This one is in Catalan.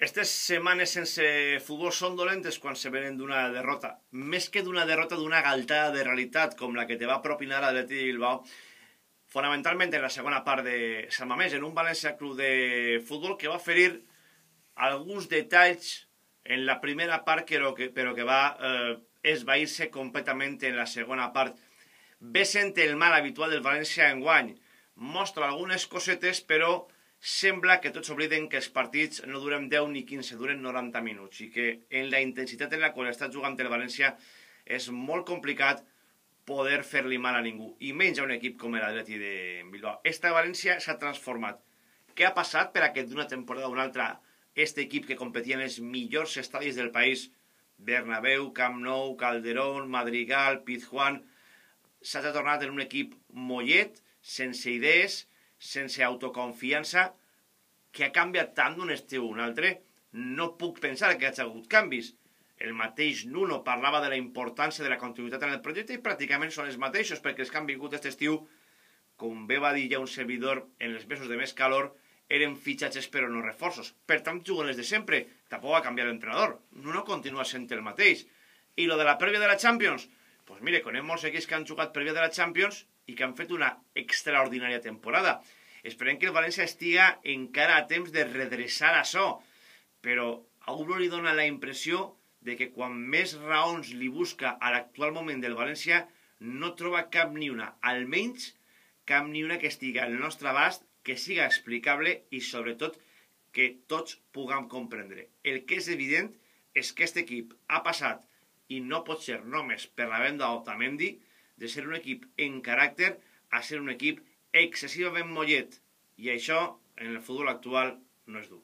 Estas setmanes sense futbol són dolentes quan se venen d'una derrota. Més que d'una derrota, d'una galtada de realitat, com la que te va propinar l'Atleti de Bilbao, fonamentalment en la segona part de Sant Mamés, en un València Club de Futbol que va ferir alguns detalls en la primera part, però que va esvair-se completament en la segona part. Ve sent el mal habitual del València enguany. Mostra algunes cosetes, però sembla que tots obliden que els partits no duren 10 ni 15, duren 90 minuts i que en la intensitat en la qual està jugant el València és molt complicat poder fer-li mal a ningú, i menys a un equip com l'Atleti de Bilbao. Esta València s'ha transformat. Què ha passat per a que d'una temporada a una altra este equip que competia en els millors estadis del país, Bernabéu, Camp Nou, Calderón, Madrigal, Pizjuán, s'ha tornat en un equip mollet, sense idees, sense autoconfiança, que ha canviat tant d'un estiu a un altre. No puc pensar que hi hagi hagut canvis. El mateix Nuno parlava de la importància de la continuïtat en el projecte i pràcticament són els mateixos, perquè els que han vingut aquest estiu, com bé va dir ja un servidor en els mesos de més calor, eren fitxatges però no reforços. Per tant, juguen els de sempre. Tampoc va canviar l'entrenador. Nuno continua sent el mateix. I lo de la prèvia de la Champions? Doncs mire, conec molts equips que han jugat prèvia de la Champions i que han fet una extraordinària temporada. Esperem que el València estiga encara a temps de redreçar això, però a uno li dona la impressió de que quan més raons li busca a l'actual moment del València no troba cap ni una, almenys cap ni una que estiga al nostre abast, que siga explicable i sobretot que tots puguem comprendre. El que és evident és que aquest equip ha passat, i no pot ser només per la venda d'Otamendi, de ser un equip en caràcter a ser un equip excessivament mollet. I això, en el futbol actual, no és dur.